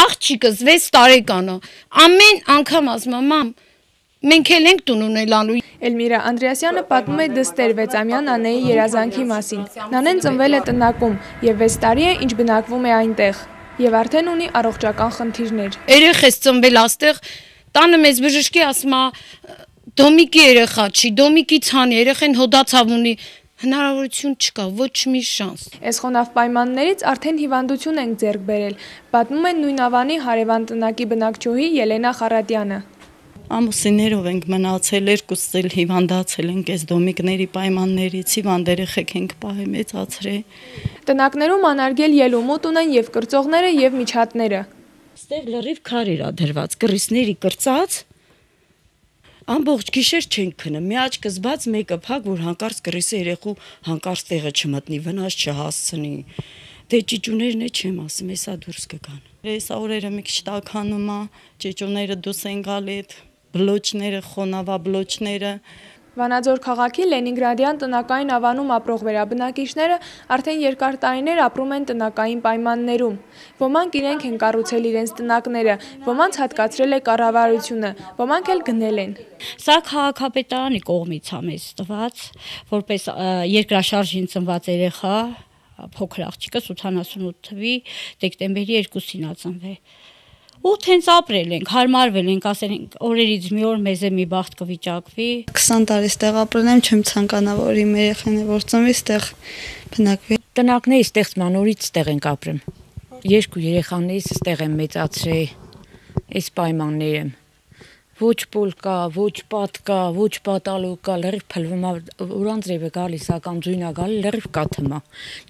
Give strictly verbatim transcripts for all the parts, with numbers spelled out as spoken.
աղջիկս վեց տարեկան է, ամեն անգամ ասում եմ, մամ, մենք էլ ենք տուն ունենալու։ Էլմիրա Անդրեասյանը պատմում է դստեր վեցամյան Նանեի երազանքի մասին։ Նանեն ծնվել է տնակում եւ վեց տարի է, ինչ բնակվում է այնտեղ եւ արդեն ունի առողջական խնդիրներ։ Երեխես ծնվել աստեղ, տանը մեծ բժշկի ասում է դոմիկի երեխա չի, դոմիկի ցանի, երեխեն հոդացավ ունի, հնարավորություն չկա, ոչ մի շանս։ Էսխոնավ պայմաններից արդեն հիվանդություն ենք ձեռք բերել, պատմում են նույն ավանի հարևան տնակի բնակչուհի Ելենա Խարատյանը։ Ամուսիններով ենք մնացել, երկուսս էլ հիվանդացել ենք այս դոմիկների պայմաններից, հիվանդ երեխեք ենք պահել, մեծացրել։ Տնակներում անարգել ելումուտ ունեն եւ կրծողները եւ միջատները։ Ստեղ լրիվ քարեր ա դրված, կռիսների կրծած, ամբողջ գիշեր չենք քնում, մի աչքս բաց, մեկը փակ, որ հանկարծ կռիսը երեխու հանկարծ տեղը չմտնի, վնաս չհասցնի։ Դե ճիճուներն է չեմ ասում, հեսա դուրս կգան։ Հեսա օրերը մի քիչ տաքանում ա, ճիճուները դուրս են գալի, բլոճները, խոնավա բլոճները։ Վանաձոր քաղաքի Լենինգրադյան տնակային ավանում ապրող վերաբնակիչները արդեն երկար տարիներ ապրում են տնակային պայմաններում։ Ոմանք իրենք են կառուցել իրենց տնակները, ոմանց հատկացրել է կառավարությունը, ոմանք էլ գնել են։ Սա քաղաքապետարանի կողմից ա մեզ տված, որպես երկրաշարժին ծնված երեխա, փոքր աղջիկս ութանասունութ թվականի դեկտեմբերի երկուսին ա ծնվել։ Ու հենց ապրել ենք, հարմարվել ենք, ասել ենք օրերից մի օր մեզ է մի բախտ կվիճակվի։ քսան տարի ստեղ ապրել եմ, չեմ ցանկանա, որ իմ երեխան է որ ծնվի ստեղ բնակվի։ Տնակների ստեղծման օրից ստեղ ենք ապրում։ Երկու երեխաներիս ստեղ եմ մեծացրել, այս պայմաններում։ Ոչ պոլ կա, ոչ պատ կա, ոչ պատալու կա, լրիվ փլվում ա, ուրանձրև է գալիս, ական ձույն ա գալի, լրիվ կաթմա։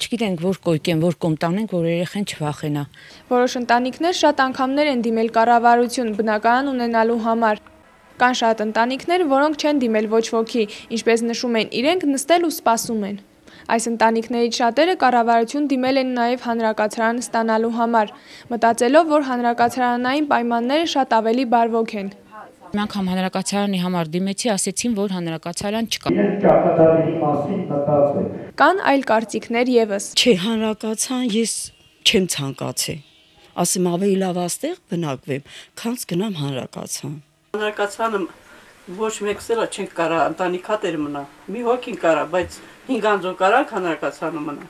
Չգիտենք որ կոյկեն, որ կոմտանենք, որ երեխեն չվախենա։ Որոշ ընտանիքներ շատ անգամներ են դիմել կառավարություն բնակարան ունենալու համար։ Կան շատ ընտանիքներ, որոնք չեն դիմել ոչ ոքի, ինչպես նշում են, իրենք նստել ու սպասում են։ Այս ընտանիքներից շատերը կառավարություն դիմել են նաև հանրակացարան ստանալու համար, մտածելով, որ հանրակացարանային պայմանները շատ ավելի բարվոք են։ Մի անգամ հանրակացարանի համար դիմեցի, ասեցին, որ հանրակացարան չկա։ Կան այլ կարծիքներ եւս։ Չէ, հանրակացարան ես չեմ ցանկացել։ Ասեմ ավելի լավ աստեղ բնակվեմ, քան գնամ հանրակացարան։ Հանրակացարանը ոչ մեկս էլ չենք կարա ընտանիքատեր մնա։ Մի հոգին կարա, բայց հինգ անձով կարա հանրակացարանում մնա։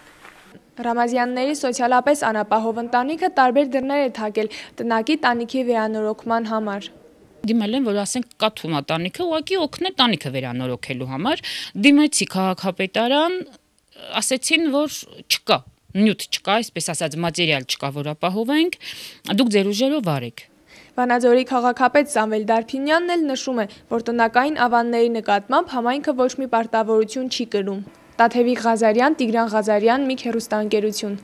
Ռամազյանների սոցիալապես անապահով ընտանիքը տարբեր դռներ է թակել տնակի տանիքի վերանորոգման համար։ Դիմել են, որ ասենք կա թումա տանիքը, ուղղակի օգնել տանիքը վերանորոգելու համար։ Դիմեցի քաղաքապետարան, ասեցին, որ չկա, նյութ չկա, այսպես ասած, մատերիալ չկա, որ ապահովենք, դուք ձեր ուժերով արեք։ Վանաձորի քաղաքապետ Սամվել Դարփինյանն էլ նշում է, որ տնակային ավանների նկատմամբ համայնքը ոչ մի պարտավորություն չի կրում։ Տաթևիկ Ղազարյան, Տիգրան Ղազարյան, Միք հեռուստաընկերություն։